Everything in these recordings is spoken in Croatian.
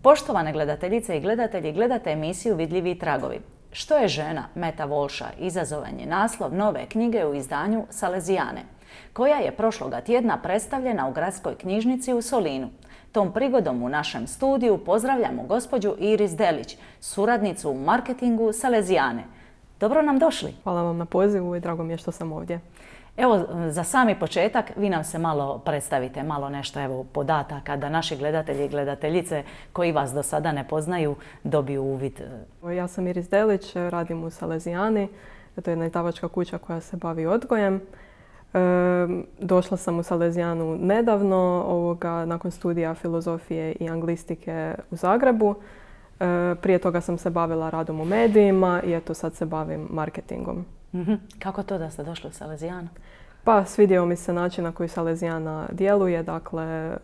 Poštovane gledateljice i gledatelji, gledate emisiju Vidljivi tragovi. Što je žena? Meta Walsha izazovan je naslov nove knjige u izdanju Salezijane, koja je prošloga tjedna predstavljena u Gradskoj knjižnici u Solinu. Tom prigodom u našem studiju pozdravljamo gospođu Iris Delić, suradnicu u marketingu Salezijane. Dobro nam došli. Hvala vam na pozivu i drago mi je što sam ovdje. Evo, za sami početak vi nam se malo predstavite, malo nešto podataka da naši gledatelji i gledateljice koji vas do sada ne poznaju dobiju uvid. Ja sam Iris Delić, radim u Salezijani. To je jedna izdavačka kuća koja se bavi odgojem. Došla sam u Salezijanu nedavno, nakon studija filozofije i anglistike u Zagrebu. Prije toga sam se bavila radom u medijima i eto sad se bavim marketingom. Kako to da ste došli u Salezijanu? Pa svidio mi se način na koji Salezijana djeluje. Dakle,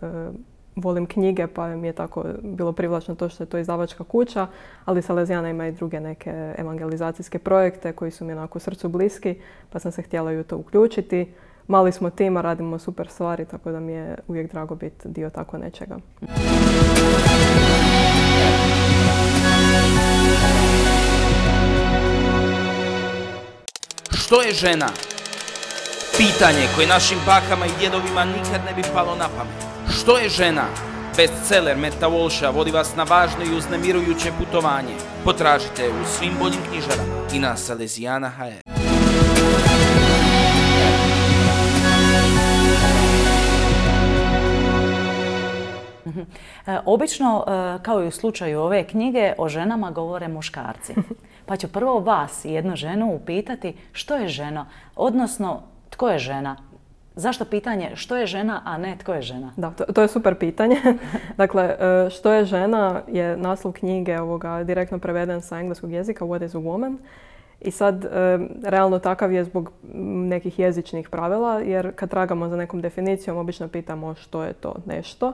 volim knjige pa mi je tako bilo privlačno to što je to izdavačka kuća, ali Salezijana ima i druge neke evangelizacijske projekte koji su mi onako srcu bliski, pa sam se htjela i u to uključiti. Mali smo tim, a radimo super stvari, tako da mi je uvijek drago biti dio tako nečega. Što je žena? Pitanje koje našim bakama i djedovima nikad ne bi palo na pamet. Što je žena? Bestseller Meta Walsha vodi vas na važno i uznemirujuće putovanje. Potražite u svim boljim knjižarama i na Salezijana.hr. Obično, kao i u slučaju ove knjige, o ženama govore muškarci. Pa ću prvo vas, jednu ženu, upitati što je žena, odnosno tko je žena? Zašto pitanje što je žena, a ne tko je žena? Da, to je super pitanje. Dakle, što je žena je naslov knjige direktno preveden sa engleskog jezika, What is a woman? I sad, realno takav je zbog nekih jezičnih pravila, jer kad tragamo za nekom definicijom, obično pitamo što je to nešto.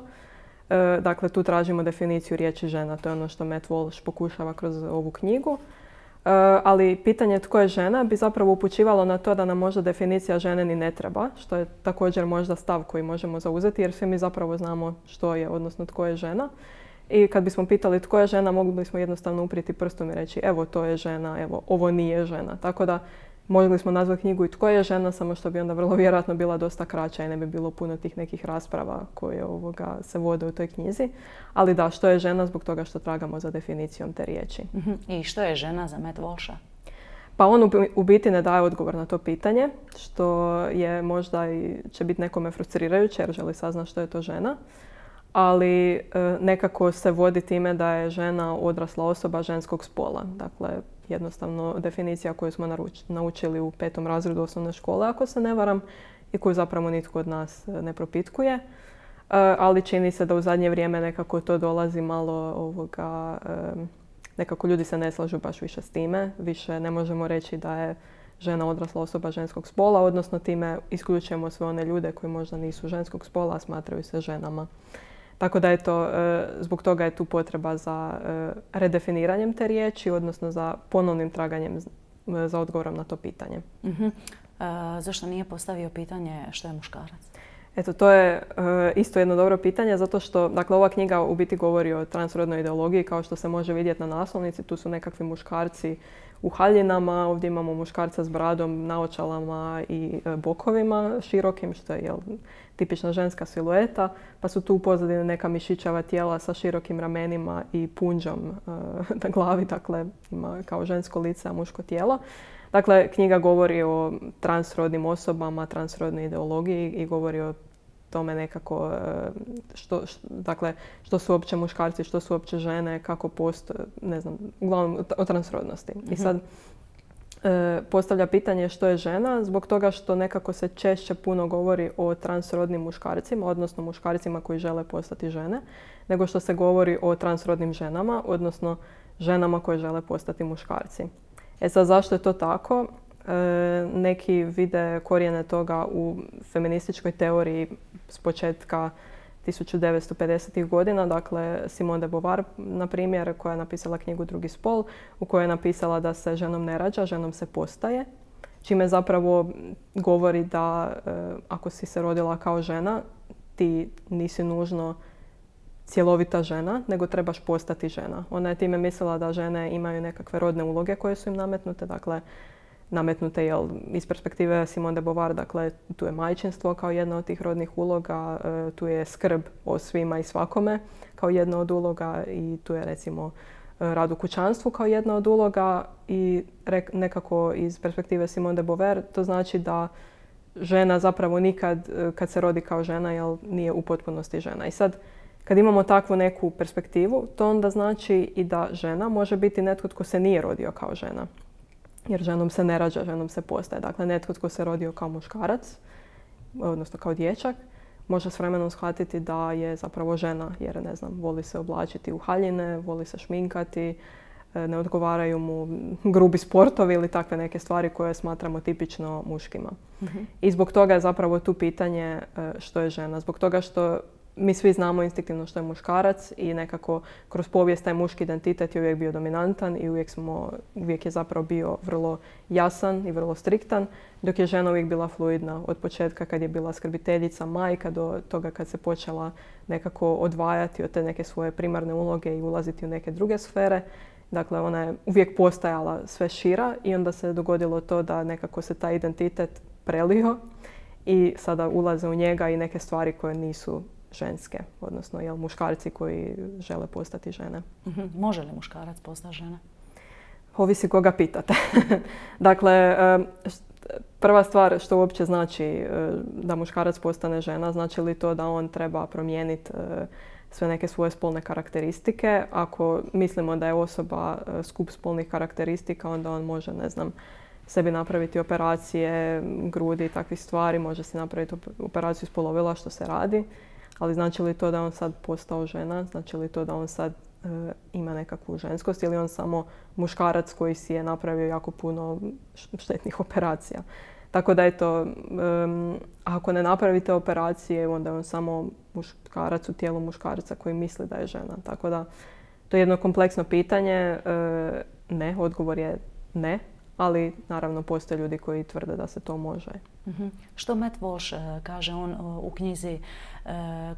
Dakle, tu tražimo definiciju riječi žena, to je ono što Meta Walsh pokušava kroz ovu knjigu. Ali pitanje tko je žena bi zapravo upućivalo na to da nam možda definicija žene ni ne treba, što je također možda stav koji možemo zauzeti, jer svi mi zapravo znamo što je, odnosno tko je žena. I kad bismo pitali tko je žena, mogli bismo jednostavno uprijeti prstom i reći evo to je žena, evo ovo nije žena. Tako da mogli smo nazvati knjigu i tko je žena, samo što bi onda vrlo vjerojatno bila dosta kraća i ne bi bilo puno tih nekih rasprava koje se vode u toj knjizi. Ali da, što je žena zbog toga što tragamo za definicijom te riječi. I što je žena za Meta Walsha? Pa on u biti ne daje odgovor na to pitanje, što je možda i će biti nekome frustrirajuće jer želi saznati što je to žena. Ali nekako se vodi time da je žena odrasla osoba ženskog spola. Dakle, jednostavno definicija koju smo naučili u 5. razredu osnovne škole, ako se ne varam, i koju zapravo nitko od nas ne propitkuje. Ali čini se da u zadnje vrijeme nekako to dolazi malo nekako ljudi se ne slažu baš više s time. Više ne možemo reći da je žena odrasla osoba ženskog spola, odnosno time isključujemo sve one ljude koji možda nisu ženskog spola, a smatraju se ženama. Tako da zbog toga je tu potreba za redefiniranjem te riječi, odnosno za ponovnim traganjem za odgovorom na to pitanje. Zašto nije postavio pitanje što je muškarac? Eto, to je isto jedno dobro pitanje, zato što ova knjiga u biti govori o transrodnoj ideologiji, kao što se može vidjeti na naslovnici. Tu su nekakvi muškarci u haljinama, ovdje imamo muškarca s bradom, naočalama i bokovima širokim, što je tipična ženska silueta, pa su tu u pozadini neka mišićava tijela sa širokim ramenima i punđom na glavi, dakle ima kao žensko lice, a muško tijelo. Dakle, knjiga govori o transrodnim osobama, transrodnoj ideologiji i govori o tome nekako što su uopće muškarci, što su uopće žene, kako postoje, ne znam, uglavnom o transrodnosti. I sad postavlja pitanje što je žena, zbog toga što nekako se češće puno govori o transrodnim muškarcima, odnosno muškarcima koji žele postati žene, nego što se govori o transrodnim ženama, odnosno ženama koje žele postati muškarci. Sad, zašto je to tako? Neki vide korijene toga u feminističkoj teoriji s početka 1950. godina, dakle Simone de Beauvoir, na primjer, koja je napisala knjigu Drugi spol, u kojoj je napisala da se ženom ne rađa, ženom se postaje, čime zapravo govori da ako si se rodila kao žena, ti nisi nužno cjelovita žena, nego trebaš postati žena. Ona je time mislila da žene imaju nekakve rodne uloge koje su im nametnute, dakle nametnute iz perspektive Simone de Beauvoir, dakle tu je majčinstvo kao jedna od tih rodnih uloga, tu je skrb o svima i svakome kao jedna od uloga i tu je recimo rad u kućanstvu kao jedna od uloga i nekako iz perspektive Simone de Beauvoir to znači da žena zapravo nikad kad se rodi kao žena nije u potpunosti žena. I sad kad imamo takvu neku perspektivu, to onda znači i da žena može biti netko tko se nije rodio kao žena. Jer ženom se ne rađa, ženom se postaje. Dakle, netko tko se rodio kao muškarac, odnosno kao dječak, može s vremenom shvatiti da je zapravo žena, jer ne znam, voli se oblačiti u haljine, voli se šminkati, ne odgovaraju mu grubi sportovi ili takve neke stvari koje smatramo tipično muškima. Mm-hmm. I zbog toga je zapravo tu pitanje što je žena. Zbog toga što mi svi znamo instinktivno što je muškarac i nekako kroz povijest taj muški identitet je uvijek bio dominantan i uvijek je zapravo bio vrlo jasan i vrlo striktan, dok je žena uvijek bila fluidna od početka kad je bila skrbiteljica, majka, do toga kad se počela nekako odvajati od te neke svoje primarne uloge i ulaziti u neke druge sfere. Dakle, ona je uvijek postajala sve šira i onda se dogodilo to da nekako se taj identitet prelio i sada ulaze u njega i neke stvari koje nisu ženske, odnosno muškarci koji žele postati žene. Mm-hmm. Može li muškarac postati žena? Ovisi koga pitate. Dakle, prva stvar što uopće znači da muškarac postane žena, znači li to da on treba promijeniti sve neke svoje spolne karakteristike. Ako mislimo da je osoba skup spolnih karakteristika, onda on može, ne znam, sebi napraviti operacije, grudi i takvih stvari, može si napraviti operaciju spolovila što se radi. Ali znači li to da on sad postao žena? Znači li to da on sad ima nekakvu ženskost ili on samo muškarac koji si je napravio jako puno štetnih operacija? Tako da eto, ako ne napravite operacije, onda je on samo muškarac u tijelu muškarca koji misli da je žena. Tako da to je jedno kompleksno pitanje. Ne, odgovor je ne. Ali naravno postoje ljudi koji tvrde da se to može. Mm-hmm. Što Matt Walsh kaže, on u knjizi,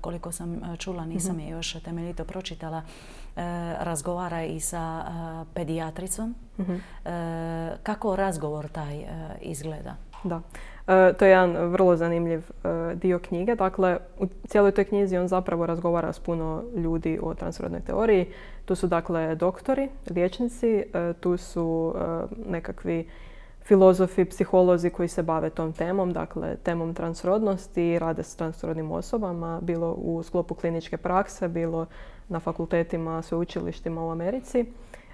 koliko sam čula, nisam je još temeljito pročitala, razgovara i sa pedijatricom. Mm-hmm. Kako razgovor taj izgleda? Da. To je jedan vrlo zanimljiv dio knjige. Dakle, u cijeloj toj knjizi on zapravo razgovara s puno ljudi o transrodnoj teoriji. Tu su dakle doktori, liječnici, tu su nekakvi filozofi, psiholozi koji se bave tom temom, dakle temom transrodnosti, rade s transrodnim osobama, bilo u sklopu kliničke prakse, bilo na fakultetima, sveučilištima u Americi.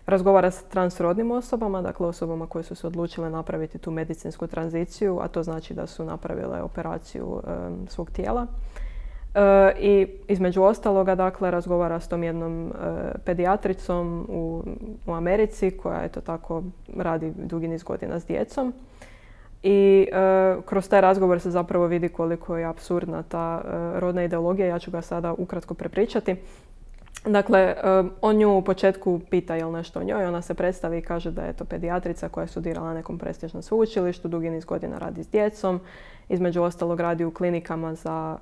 Razgovara s transrodnim osobama, dakle osobama koje su se odlučile napraviti tu medicinsku tranziciju, a to znači da su napravile operaciju svog tijela. I između ostaloga, dakle, razgovara s tom jednom pedijatricom u Americi koja eto tako radi dugi niz godina s djecom. I kroz taj razgovor se zapravo vidi koliko je apsurdna ta rodna ideologija. Ja ću ga sada ukratko prepričati. Dakle, on nju u početku pita jel nešto o njoj. Ona se predstavi i kaže da je to pedijatrica koja je studirala na nekom prestižnom sveučilištu, dugi niz godina radi s djecom. Između ostalog radi u klinikama za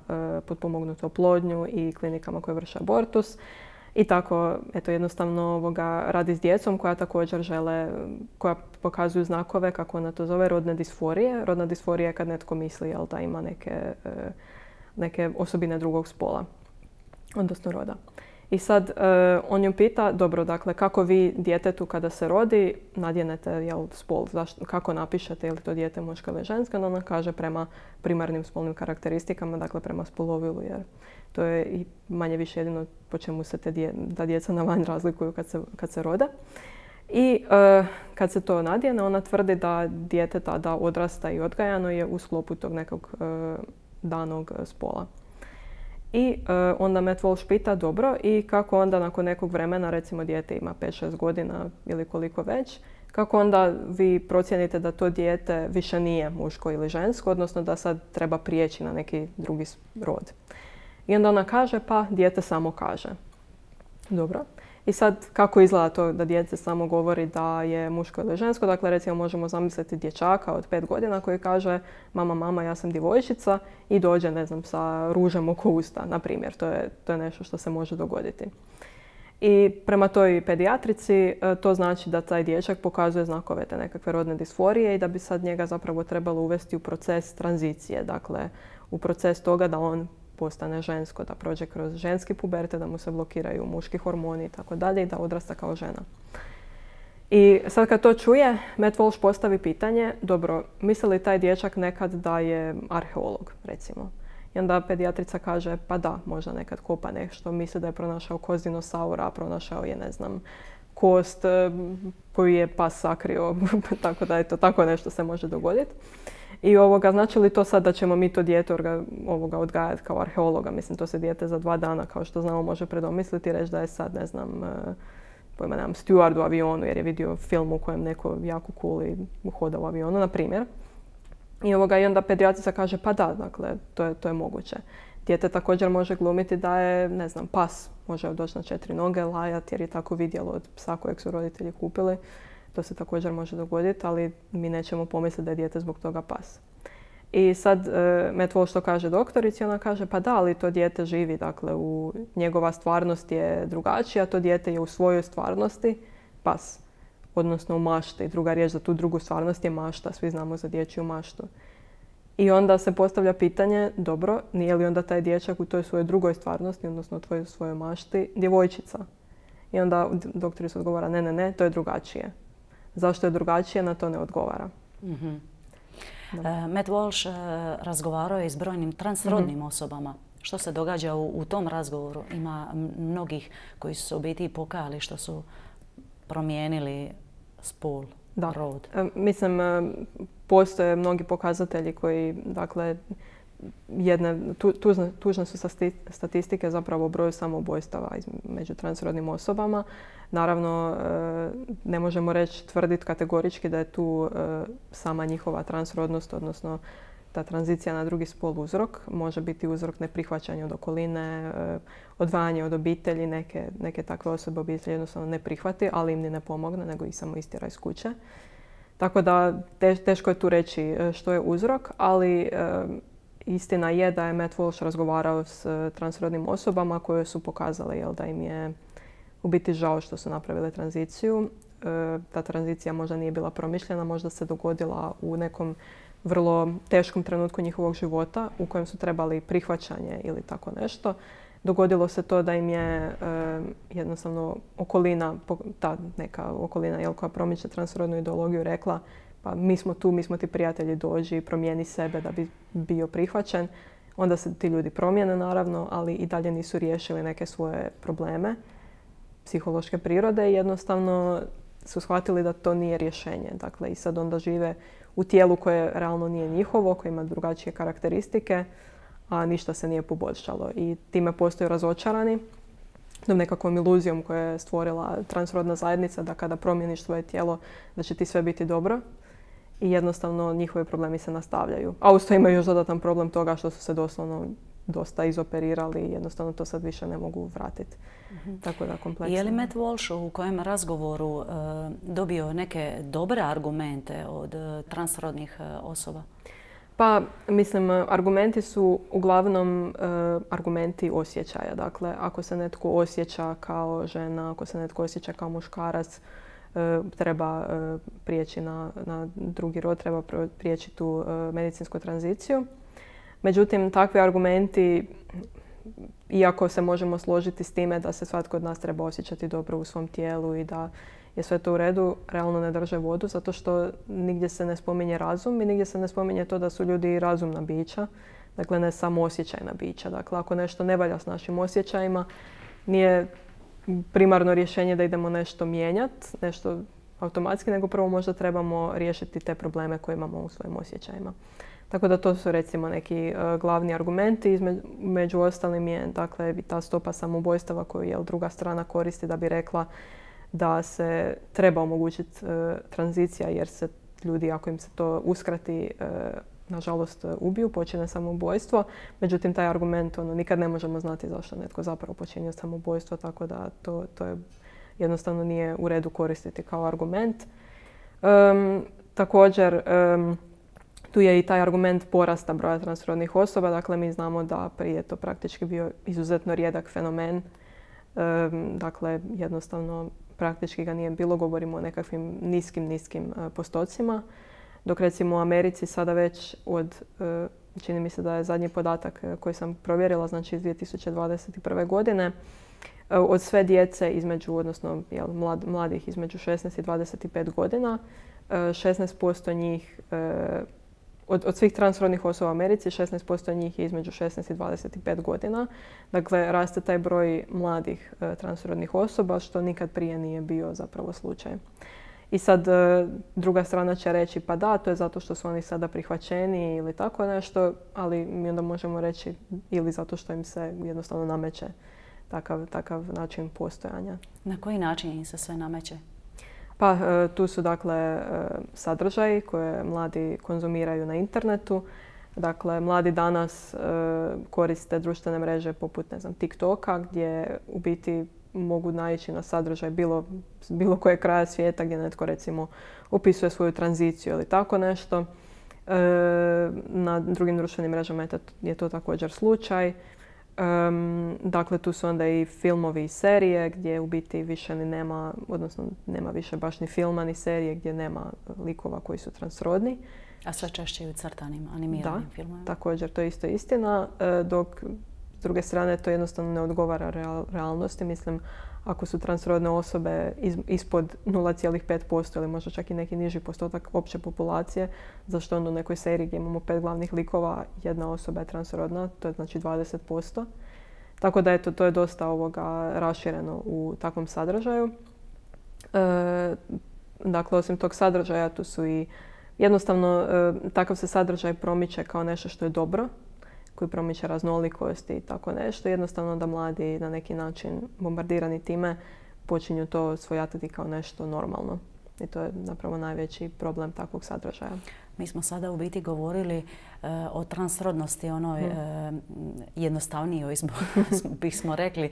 potpomognutu oplodnju i klinikama koje vrše abortus. I tako, eto, jednostavno radi s djecom koja također koja pokazuju znakove, kako ona to zove, rodne disforije. Rodna disforija je kad netko misli da ima neke osobine drugog spola, odnosno roda. I sad on ju pita, dobro, dakle, kako vi djetetu kada se rodi nadjenete spol, kako napišete je li to dijete muško ili žensko, onda ona kaže prema primarnim spolnim karakteristikama, dakle prema spolovilu, jer to je i manje više jedino po čemu se ta djeca na van razlikuju kad se rode. I kad se to nadjene, ona tvrdi da dijete tada odrasta i odgajano je u sklopu tog nekog danog spola. I onda Matt Walsh pita, dobro, i kako onda nakon nekog vremena, recimo dijete ima 5-6 godina ili koliko već, kako onda vi procijenite da to dijete više nije muško ili žensko, odnosno da sad treba prijeći na neki drugi rod. I onda ona kaže, pa dijete samo kaže. Dobro. I sad, kako izgleda to da dijete samo govori da je muško ili žensko? Dakle, recimo možemo zamisliti dječaka od 5 godina koji kaže mama, ja sam djevojčica i dođe, ne znam, sa ružem oko usta, na primjer. To je nešto što se može dogoditi. I prema toj pedijatrici to znači da taj dječak pokazuje znakove te nekakve rodne disforije i da bi sad njega zapravo trebalo uvesti u proces tranzicije. Dakle, u proces toga da on postane žensko, da prođe kroz ženski pubertet, da mu se blokiraju muški hormoni i tako dalje i da odrasta kao žena. I sad kad to čuje, Matt Walsh postavi pitanje, dobro, misli li taj dječak nekad da je arheolog, recimo? I onda pedijatrica kaže, pa da, možda nekad kopa nešto, misli da je pronašao kost dinosaura, pronašao je, ne znam, kost koju je pas sakrio, tako da eto, tako nešto se može dogoditi. I znači li to sad da ćemo mi to dijete odgajati kao arheologa? Mislim, to se dijete za 2 dana, kao što znamo, može predomisliti i reći da je sad, ne znam, steward u avionu jer je vidio film u kojem neko jako cool i hoda u avionu, na primjer. I onda pedijatrica kaže, pa da, dakle, to je moguće. Dijete također može glumiti da je, ne znam, pas. Može doći na 4 noge, lajati jer je tako vidjelo od psa kojeg su roditelji kupili. To se također može dogoditi, ali mi nećemo pomisliti da je dijete zbog toga pas. I sad Matt Walsh to kaže doktorici, ona kaže pa da, ali to dijete živi, dakle njegova stvarnost je drugačija, to dijete je u svojoj stvarnosti pas, odnosno u mašti. Druga riječ za tu drugu stvarnost je mašta, svi znamo za dječju maštu. I onda se postavlja pitanje, dobro, nije li onda taj dječak u toj svojoj drugoj stvarnosti, odnosno u svojoj mašti, djevojčica? I onda doktorica odgovara, ne, to je drugačije. Zašto je drugačije, na to ne odgovara. Mm-hmm. Matt Walsh razgovarao je s brojnim transrodnim osobama. Što se događa u tom razgovoru? Ima mnogih koji su se u biti pokajali što su promijenili spol, rod. Mislim, postoje mnogi pokazatelji koji, dakle, tužne su statistike zapravo o broju samoubojstava među transrodnim osobama. Naravno, ne možemo tvrditi kategorički da je tu sama njihova transrodnost, odnosno ta tranzicija na drugi spol uzrok. Može biti uzrok neprihvaćanja od okoline, odvajanje od obitelji, neke takve osobe obitelji jednostavno ne prihvati, ali im ni ne pomogne, nego ih samo istjera iz kuće. Tako da teško je tu reći što je uzrok, ali istina je da je Matt Walsh razgovarao s transrodnim osobama koje su pokazale da im je u biti žao što su napravile tranziciju. Ta tranzicija možda nije bila promišljena, možda se dogodila u nekom vrlo teškom trenutku njihovog života u kojem su trebali prihvaćanje ili tako nešto. Dogodilo se to da im je jednostavno okolina, ta neka okolina koja promiče transrodnu ideologiju rekla pa mi smo tu, mi smo ti prijatelji, dođi, promijeni sebe da bi bio prihvaćen. Onda se ti ljudi promijene naravno, ali i dalje nisu riješili neke svoje probleme psihološke prirode i jednostavno su shvatili da to nije rješenje. Dakle, i sad onda žive u tijelu koje realno nije njihovo, koje ima drugačije karakteristike, a ništa se nije poboljšalo. I time postaju razočarani tom nekakvom iluzijom koju je stvorila transrodna zajednica da kada promijeniš svoje tijelo da će ti sve biti dobro. I jednostavno njihovi problemi se nastavljaju. A uz to imaju još dodatan problem toga što su se doslovno dosta izoperirali i jednostavno to sad više ne mogu vratiti. Tako da kompleksno. Je li Matt Walsh u kojem razgovoru dobio neke dobre argumente od transrodnih osoba? Pa, mislim, argumenti su uglavnom argumenti osjećaja. Dakle, ako se netko osjeća kao žena, ako se netko osjeća kao muškarac, treba prijeći na drugi rod, treba prijeći tu medicinsku tranziciju. Međutim, takvi argumenti, iako se možemo složiti s time da se svatko od nas treba osjećati dobro u svom tijelu i da je sve to u redu, realno ne drže vodu zato što nigdje se ne spominje razum i nigdje se ne spominje to da su ljudi razumna bića. Dakle, ne samo osjećajna bića. Dakle, ako nešto ne valja s našim osjećajima, nije primarno rješenje da idemo nešto mijenjati, nešto automatski, nego prvo možda trebamo riješiti te probleme koje imamo u svojim osjećajima. Tako da to su recimo neki glavni argumenti. Među ostalim je dakle ta stopa samoubojstava koju druga strana koristi da bi rekla da se treba omogućiti tranzicija jer se ljudi, ako im se to uskrati, nažalost ubiju, počine samoubojstvo. Međutim, taj argument nikad ne možemo znati zašto netko zapravo počinio samoubojstvo, tako da to je jednostavno nije u redu koristiti kao argument. Također, tu je i taj argument porasta broja transrodnih osoba. Dakle, mi znamo da prije je to praktički bio izuzetno rijedak fenomen. Dakle, jednostavno praktički ga nije bilo. Govorimo o nekakvim niskim postocima. Dok recimo u Americi sada već čini mi se da je zadnji podatak koji sam provjerila, znači iz 2021. godine, od sve djece odnosno mladih između 16 i 25 godina, 16% njih, od svih transrodnih osoba u Americi, 16% njih je između 16 i 25 godina. Dakle, raste taj broj mladih transrodnih osoba, što nikad prije nije bio zapravo slučaj. I sad druga strana će reći pa da, to je zato što su oni sada prihvaćeni ili tako nešto, ali mi onda možemo reći ili zato što im se jednostavno nameće takav način postojanja. Na koji način im se sve nameće? Pa tu su dakle sadržaji koje mladi konzumiraju na internetu. Dakle, mladi danas koriste društvene mreže poput TikToka, gdje u biti mogu naići na sadržaj bilo koje kraja svijeta gdje netko recimo opisuje svoju tranziciju ili tako nešto. Na drugim društvenim mrežama je to također slučaj. Dakle, tu su onda i filmovi i serije gdje u biti više ni nema, odnosno nema više baš ni filma ni serije gdje nema likova koji su transrodni. A sve češće i u crtanim, animiranim filmovima. Također, to je isto istina, dok s druge strane to jednostavno ne odgovara realnosti. Mislim, ako su transrodne osobe ispod 0,5% ili možda čak i neki niži postotak opće populacije, zašto onda u nekoj seriji gdje imamo 5 glavnih likova, jedna osoba je transrodna, to je znači 20%. Tako da to je dosta rašireno u takvom sadržaju. Dakle, osim tog sadržaja, tu su i jednostavno takav se sadržaj promiče kao nešto što je dobro, koji promiče raznolikosti i tako nešto. Jednostavno da mladi na neki način bombardirani time počinju to svojatati kao nešto normalno. I to je zapravo najveći problem takvog sadržaja. Mi smo sada u biti govorili o transrodnosti, onoj jednostavnijoj, bismo rekli,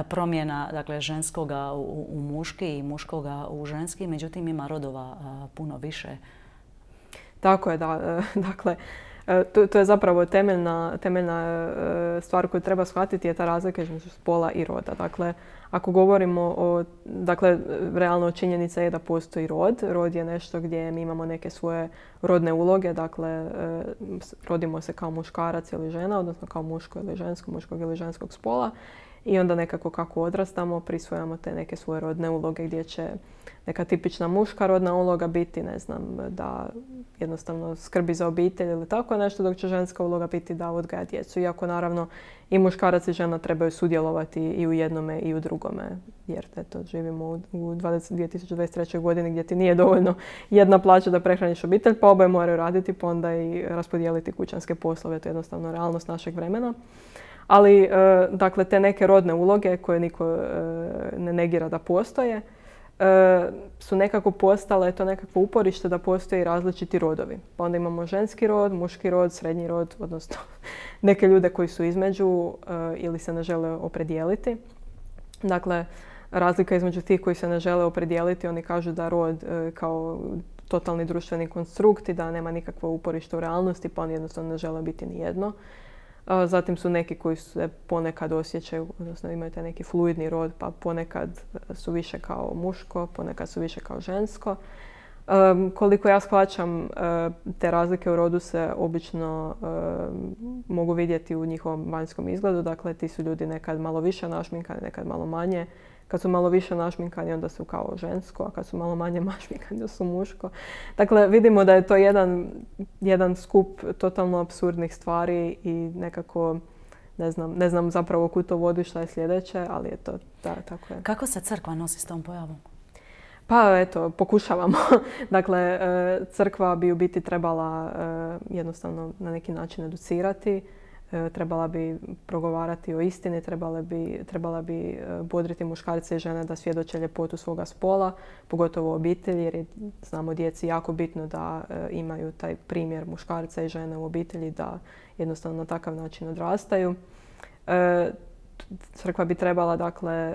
promjena dakle, ženskoga u muški i muškoga u ženski. Međutim, ima rodova puno više. Tako je, da. Dakle, to je zapravo temeljna stvar koju treba shvatiti je ta razlika između spola i roda. Dakle, ako govorimo realno činjenica je da postoji rod. Rod je nešto gdje mi imamo neke svoje rodne uloge. Dakle, rodimo se kao muškarac ili žena, odnosno kao muško ili žensko, muškog ili ženskog spola. I onda nekako kako odrastamo prisvojamo te neke svoje rodne uloge gdje će neka tipična muška rodna uloga biti, da jednostavno skrbi za obitelj ili tako nešto, dok će ženska uloga biti da odgaja djecu. Iako naravno i muškarac i žena trebaju sudjelovati i u jednome i u drugome. Jer živimo u 2023. godini gdje ti nije dovoljno jedna plaća da prehraniš obitelj, pa oboje moraju raditi, pa onda i raspodijeliti kućanske poslove. To je jednostavno realnost našeg vremena. Ali, dakle, te neke rodne uloge koje niko ne negira da postoje, su nekako postale to nekakvo uporište da postoje različiti rodovi. Pa onda imamo ženski rod, muški rod, srednji rod, odnosno neke ljude koji su između ili se ne žele opredijeliti. Dakle, razlika između tih koji se ne žele opredijeliti, oni kažu da rod kao totalni društveni konstrukt i da nema nikakvo uporište u realnosti, pa oni jednostavno ne žele biti ni jedno. Zatim su neki koji se ponekad osjećaju, odnosno imaju taj neki fluidni rod, pa ponekad su više kao muško, ponekad su više kao žensko. Koliko ja shvaćam, te razlike u rodu se obično mogu vidjeti u njihovom vanjskom izgledu. Dakle, ti su ljudi nekad malo više našminkani, nekad malo manje. Kad su malo više našminkani, onda su kao žensko, a kad su malo manje našminkani, onda su muško. Dakle, vidimo da je to jedan skup totalno apsurdnih stvari i nekako ne znam zapravo kud to vodi, šta je sljedeće, ali je to tako je. Kako se crkva nosi s tom pojavom? Pa eto, pokušavamo. Dakle, crkva bi u biti trebala jednostavno na neki način educirati trebala bi progovarati o istini, trebala bi bodriti muškarce i žene da svjedoče ljepotu svoga spola, pogotovo u obitelji, jer je, znamo, djeci jako bitno da imaju taj primjer muškarca i žene u obitelji, da jednostavno na takav način odrastaju. Crkva bi trebala, dakle,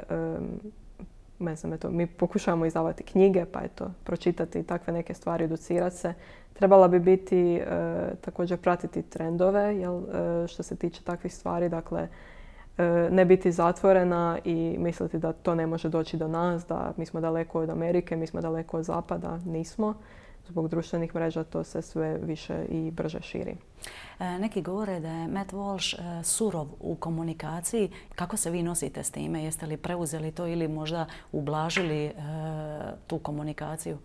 ne znam, mi pokušavamo izdavati knjige, pa pročitati takve neke stvari, educirati se. Trebala bi biti, također pratiti trendove, što se tiče takvih stvari, dakle, ne biti zatvorena i misliti da to ne može doći do nas, da mi smo daleko od Amerike, mi smo daleko od Zapada, nismo. Zbog društvenih mreža to se sve više i brže širi. Neki govore da je Matt Walsh surov u komunikaciji. Kako se vi nosite s time? Jeste li preuzeli to ili možda ublažili tu komunikaciju?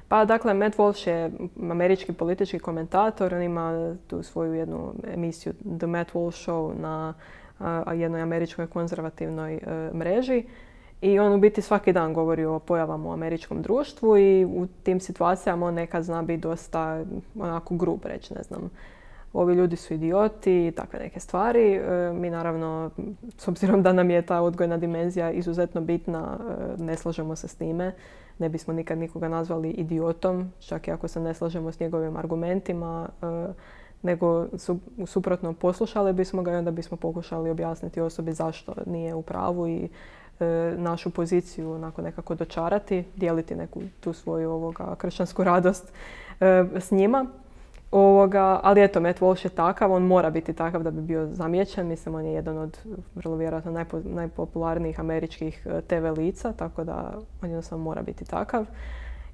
Pa dakle, Matt Walsh je američki politički komentator. On ima tu svoju jednu emisiju The Matt Walsh Show na jednoj američkoj konzervativnoj mreži. I on u biti svaki dan govori o pojavama u američkom društvu i u tim situacijama on nekad zna biti dosta onako grub reći, ne znam. Ovi ljudi su idioti i takve neke stvari. Mi naravno, s obzirom da nam je ta odgojna dimenzija izuzetno bitna, ne slažemo se s time. Ne bismo nikad nikoga nazvali idiotom, čak i ako se ne slažemo s njegovim argumentima, nego suprotno poslušali bismo ga i onda bismo pokušali objasniti osobi zašto nije u pravu i našu poziciju onako nekako dočarati, dijeliti neku tu svoju kršćansku radost s njima. Ali eto, Matt Walsh je takav, on mora biti takav da bi bio zamijećen. Mislim, on je jedan od vrlo vjerojatno najpopularnijih američkih TV lica, tako da on jednostavno mora biti takav.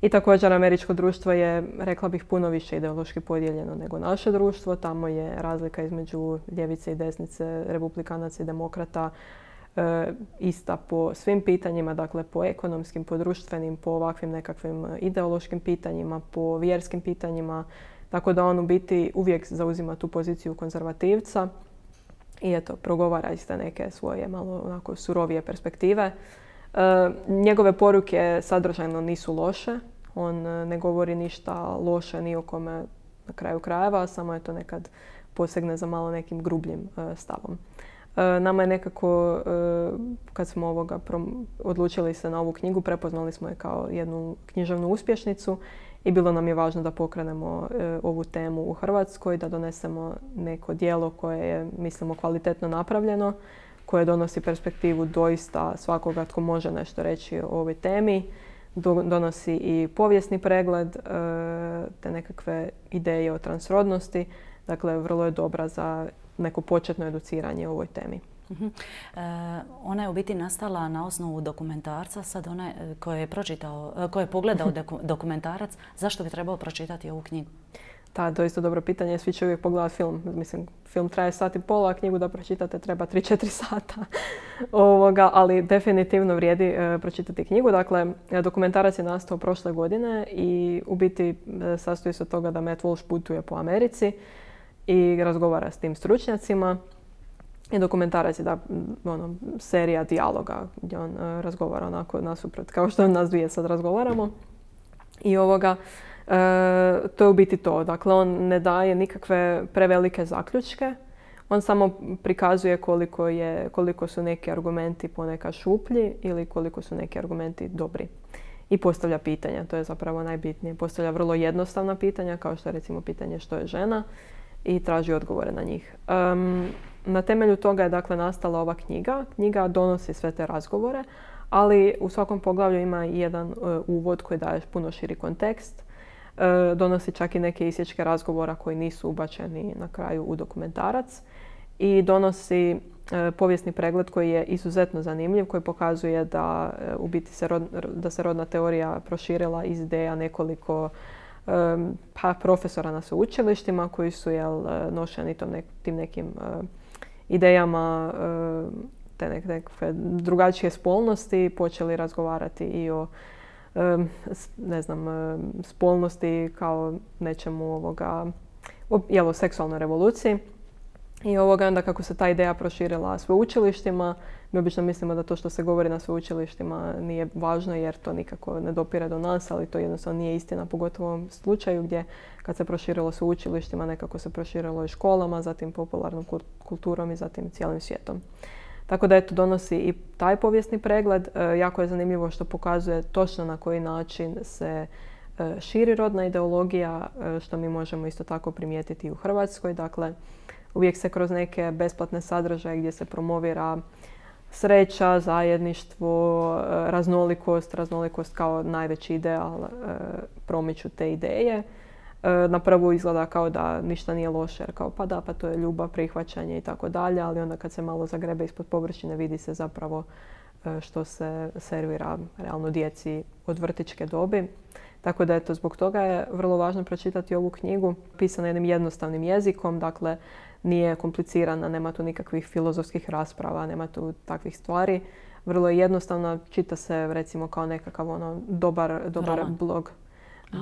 I također američko društvo je, rekla bih, puno više ideološki podijeljeno nego naše društvo. Tamo je razlika između ljevice i desnice, republikanaca i demokrata ista po svim pitanjima, dakle po ekonomskim, po društvenim, po ovakvim nekakvim ideološkim pitanjima, po vjerskim pitanjima. Tako da on u biti uvijek zauzima tu poziciju konzervativca i eto, progovara iz te neke svoje malo onako surovije perspektive. Njegove poruke sadržajno nisu loše. On ne govori ništa loše ni o kome na kraju krajeva, samo je to nekad posegne za malo nekim grubljim stavom. Nama je nekako, kad smo odlučili se na ovu knjigu, prepoznali smo je kao jednu književnu uspješnicu i bilo nam je važno da pokrenemo ovu temu u Hrvatskoj, da donesemo neko djelo koje je, mislimo, kvalitetno napravljeno, koje donosi perspektivu doista svakoga tko može nešto reći o ovoj temi. Donosi i povijesni pregled, te nekakve ideje o transrodnosti. Dakle, vrlo je dobra za neko početno educiranje o ovoj temi. Ona je u biti nastala na osnovu dokumentarca. Sad onaj ko je pogledao dokumentarac, zašto bi trebao pročitati ovu knjigu? Da, doista dobro pitanje. Svi će uvijek pogledati film. Mislim, film traje 1,5 sata, a knjigu da pročitate treba 3-4 sata. Ali definitivno vrijedi pročitati knjigu. Dakle, dokumentarac je nastao prošle godine i u biti sastoji se od toga da Matt Walsh putuje po Americi i razgovara s tim stručnjacima. I dokumentarac je serija dijaloga gdje on razgovara onako nasuprot, kao što nas dvije sad razgovaramo. I to je u biti to. Dakle, on ne daje nikakve prevelike zaključke. On samo prikazuje koliko su neki argumenti ponekad šuplji ili koliko su neki argumenti dobri. I postavlja pitanja, to je zapravo najbitnije. Postavlja vrlo jednostavna pitanja, kao što je recimo pitanje što je žena, i traži odgovore na njih. Na temelju toga je dakle nastala ova knjiga. Knjiga donosi sve te razgovore, ali u svakom poglavlju ima i jedan uvod koji daje puno širi kontekst. Donosi čak i neke isječke razgovora koji nisu ubačeni na kraju u dokumentarac. I donosi povijesni pregled koji je izuzetno zanimljiv, koji pokazuje da u biti da se rodna teorija proširila iz ideja nekoliko profesora na sveučilištima koji su nošeni tim nekim idejama te nekakve drugačije spolnosti, počeli razgovarati i o spolnosti kao nečemu o seksualnoj revoluciji. I onda kako se ta ideja proširila sveučilištima, Mi obično mislimo da to što se govori na sveučilištima nije važno jer to nikako ne dopire do nas, ali to jednostavno nije istina, pogotovo u ovom slučaju gdje kad se proširilo sveučilištima, nekako se proširilo i školama, zatim popularnom kulturom i zatim cijelim svijetom. Tako da eto, donosi i taj povijesni pregled. Jako je zanimljivo što pokazuje točno na koji način se širi rodna ideologija, što mi možemo isto tako primijetiti i u Hrvatskoj. Dakle, uvijek se kroz neke besplatne sadržaje gdje se promovira sreća, zajedništvo, raznolikost kao najveći ideal promiču te ideje. Na prvu izgleda kao da ništa nije loše, jer kao pa da, pa to je ljubav, prihvaćanje i tako dalje, ali onda kad se malo zagrebe ispod površine vidi se zapravo što se servira realno djeci od vrtićke dobi. Tako da eto, zbog toga je vrlo važno pročitati ovu knjigu, pisana jednim jednostavnim jezikom, dakle nije komplicirana, nema tu nikakvih filozofskih rasprava, nema tu takvih stvari. Vrlo je jednostavna, čita se recimo kao nekakav dobar blog.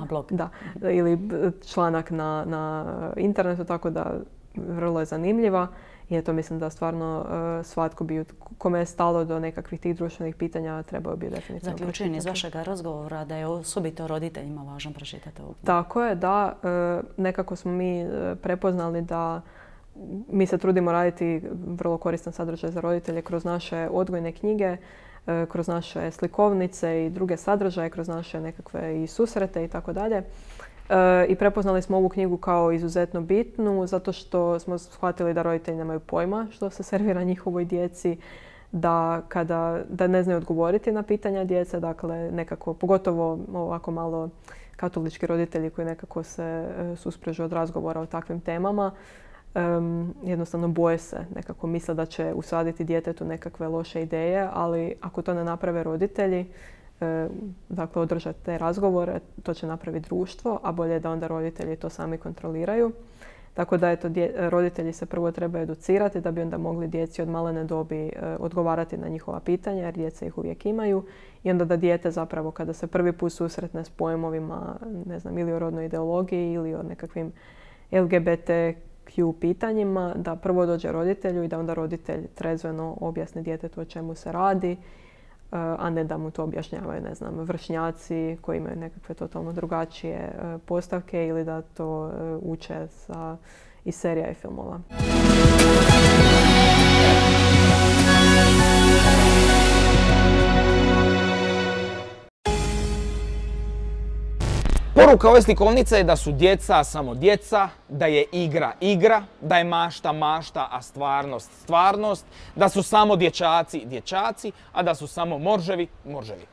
Blog. Da, ili članak na internetu, tako da vrlo je zanimljiva. I eto, mislim da stvarno svatko bi, kome je stalo do nekakvih tih društvenih pitanja, trebao bi definitivno zaključujem iz vašeg razgovora da je osobito roditeljima važno pročitati ovu knjigu. Tako je, da. Nekako smo mi prepoznali da mi se trudimo raditi vrlo koristan sadržaj za roditelje kroz naše odgojne knjige, kroz naše slikovnice i druge sadržaje, kroz naše nekakve i susrete i tako dalje. I prepoznali smo ovu knjigu kao izuzetno bitnu zato što smo shvatili da roditelji nemaju pojma što se servira njihovoj djeci, da ne znaju odgovoriti na pitanja djece, dakle nekako, pogotovo ovako malo katolički roditelji koji nekako se susprežu od razgovora o takvim temama. Jednostavno boje se, nekako misle da će usaditi djetetu nekakve loše ideje, ali ako to ne naprave roditelji, dakle održati te razgovore, to će napraviti društvo, a bolje je da onda roditelji to sami kontroliraju. Tako da eto, roditelji se prvo trebaju educirati da bi onda mogli djeci od malene dobi odgovarati na njihova pitanja, jer djeca ih uvijek imaju. I onda da dijete zapravo kada se prvi put susretne s pojmovima, ne znam, ili o rodnoj ideologiji ili o nekakvim LGBTQ pitanjima, da prvo dođe roditelju i da onda roditelj trezveno objasni djetetu o čemu se radi, a ne da mu to objašnjavaju, ne znam, vršnjaci koji imaju nekakve totalno drugačije postavke ili da to uče iz serija i filmova. Poruka ove slikovnice je da su djeca samo djeca, da je igra igra, da je mašta mašta, a stvarnost stvarnost, da su samo dječaci dječaci, a da su samo morževi morževi.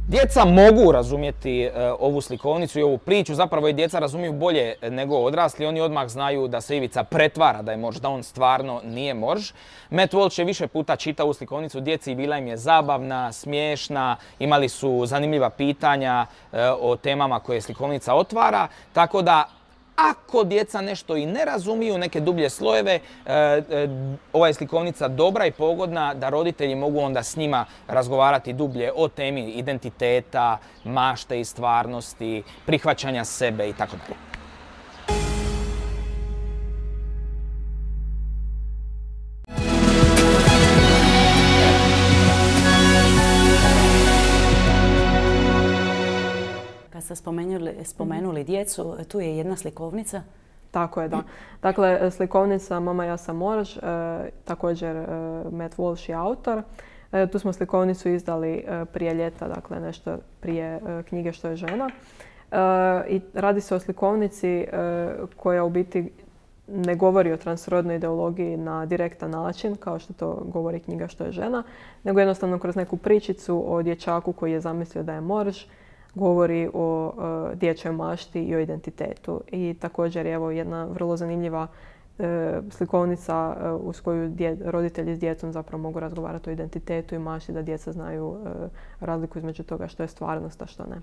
Djeca mogu razumjeti ovu slikovnicu i ovu priču, zapravo i djeca razumiju bolje nego odrasli. Oni odmah znaju da se Ivica pretvara da je morž, da on stvarno nije morž. Matt Walsh je više puta čitao ovu slikovnicu djeci i bila im je zabavna, smiješna, imali su zanimljiva pitanja o temama koje slikovnica otvara, tako da ako djeca nešto i ne razumiju, neke dublje slojeve, ova je slikovnica dobra i pogodna da roditelji mogu onda s njima razgovarati dublje o temi identiteta, mašte i stvarnosti, prihvaćanja sebe i tako dalje. Ste spomenuli djecu, tu je jedna slikovnica. Tako je, da. Dakle, slikovnica Mama, ja sam morž, također Matt Walsh je autor. Tu smo slikovnicu izdali prije ljeta, dakle nešto prije knjige Što je žena. I radi se o slikovnici koja u biti ne govori o transrodnoj ideologiji na direktan način, kao što to govori knjiga Što je žena, nego jednostavno kroz neku pričicu o dječaku koji je zamislio da je morž, govori o dječjoj mašti i o identitetu. I također je evo jedna vrlo zanimljiva slikovnica uz koju roditelji s djecom zapravo mogu razgovarati o identitetu i mašti, da djeca znaju razliku između toga što je stvarnost, a što ne.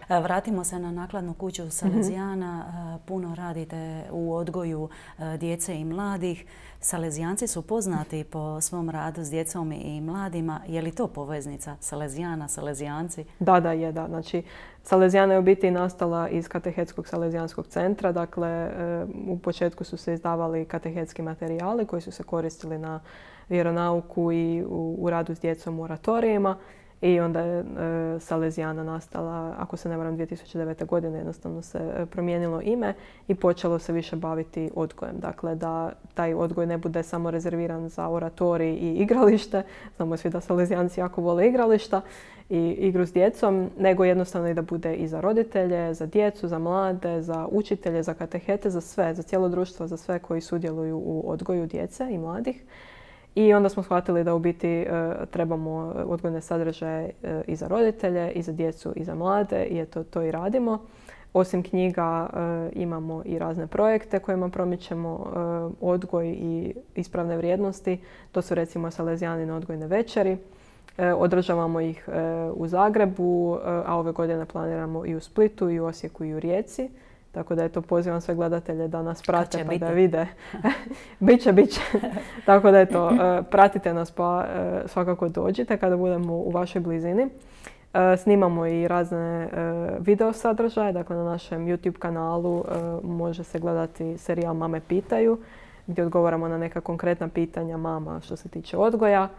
Vratimo se na nakladnu kuću Salezijana. Puno radite u odgoju djece i mladih. Salezijanci su poznati po svom radu s djecom i mladima. Je li to poveznica Salezijana, Salezijanci? Da, je. Znači, Salezijana je u biti nastala iz Katehetskog Salezijanskog centra. Dakle, u početku su se izdavali katehetski materijali koji su se koristili na vjeronauku i u radu s djecom u oratorijima. I onda je Salezijana nastala, ako se ne varam, 2009. godine jednostavno se promijenilo ime i počelo se više baviti odgojem. Dakle, da taj odgoj ne bude samo rezerviran za oratorij i igralište. Znamo svi da Salezijanci jako vole igrališta i igru s djecom, nego jednostavno i da bude i za roditelje, za djecu, za mlade, za učitelje, za katehete, za sve, za cijelo društvo, za sve koji sudjeluju u odgoju djece i mladih. I onda smo shvatili da u biti trebamo odgojne sadržaje i za roditelje, i za djecu, i za mlade i to i radimo. Osim knjiga imamo i razne projekte kojima promičemo odgoj i ispravne vrijednosti. To su recimo Salezijanine odgojne večeri. Održavamo ih u Zagrebu, a ove godine planiramo i u Splitu, i u Osijeku, i u Rijeci. Tako da pozivam sve gledatelje da nas prate pa da vide. Biće. Tako da pratite nas pa svakako dođite kada budemo u vašoj blizini. Snimamo i razne video sadržaje. Dakle, na našem YouTube kanalu može se gledati serijal Mame pitaju, gdje odgovaramo na neka konkretna pitanja mama što se tiče odgoja.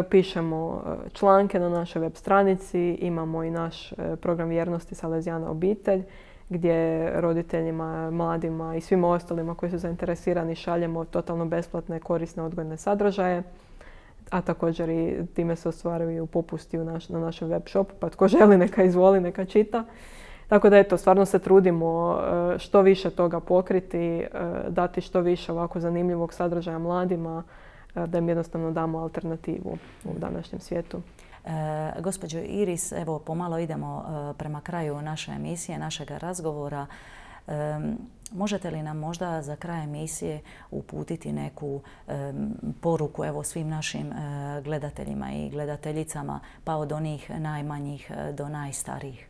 Pišemo članke na našoj web stranici. Imamo i naš program vjernosti Salezijana obitelj, gdje roditeljima, mladima i svima ostalima koji su zainteresirani šaljemo totalno besplatne korisne odgojne sadržaje. A također i time se ostvaruju popusti na našem web shopu, pa tko želi neka izvoli, neka čita. Tako da stvarno se trudimo što više toga pokriti, dati što više ovako zanimljivog sadržaja mladima, da im jednostavno damo alternativu u današnjem svijetu. Gospođo Iris, evo pomalo idemo prema kraju naše emisije, našeg razgovora. Možete li nam možda za kraj emisije uputiti neku poruku evo svim našim gledateljima i gledateljicama, pa od onih najmanjih do najstarijih?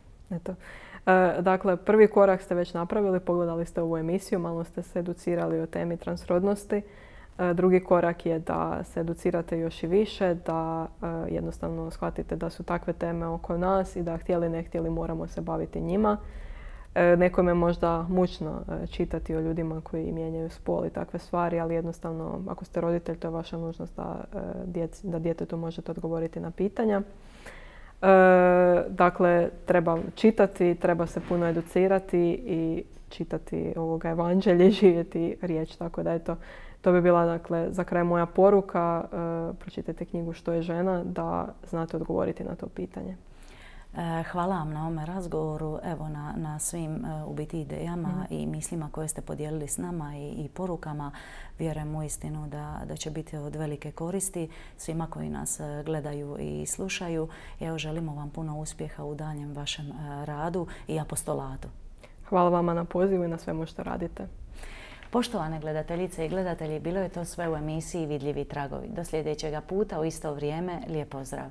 Dakle, prvi korak ste već napravili, pogledali ste ovu emisiju, malo ste se educirali o temi transrodnosti. Drugi korak je da se educirate još i više, da jednostavno shvatite da su takve teme oko nas i da htjeli ne htjeli moramo se baviti njima. Nekome je možda mučno čitati o ljudima koji mijenjaju spol i takve stvari, ali jednostavno ako ste roditelj to je vaša nužnost da djetetu možete odgovoriti na pitanja. Dakle, treba čitati, treba se puno educirati i čitati ovoga evanđelje, živjeti riječ, tako da to bi bila dakle, za kraj moja poruka. Pročitajte knjigu Što je žena, da znate odgovoriti na to pitanje. Hvala vam na ovome razgovoru, evo na svim u biti idejama i mislima koje ste podijelili s nama i porukama. Vjerujem uistinu da će biti od velike koristi svima koji nas gledaju i slušaju. Evo, želimo vam puno uspjeha u daljem vašem radu i apostolatu. Hvala vama na pozivu i na svemu što radite. Poštovane gledateljice i gledatelji, bilo je to sve u emisiji Vidljivi tragovi. Do sljedećega puta u isto vrijeme, lijep pozdrav!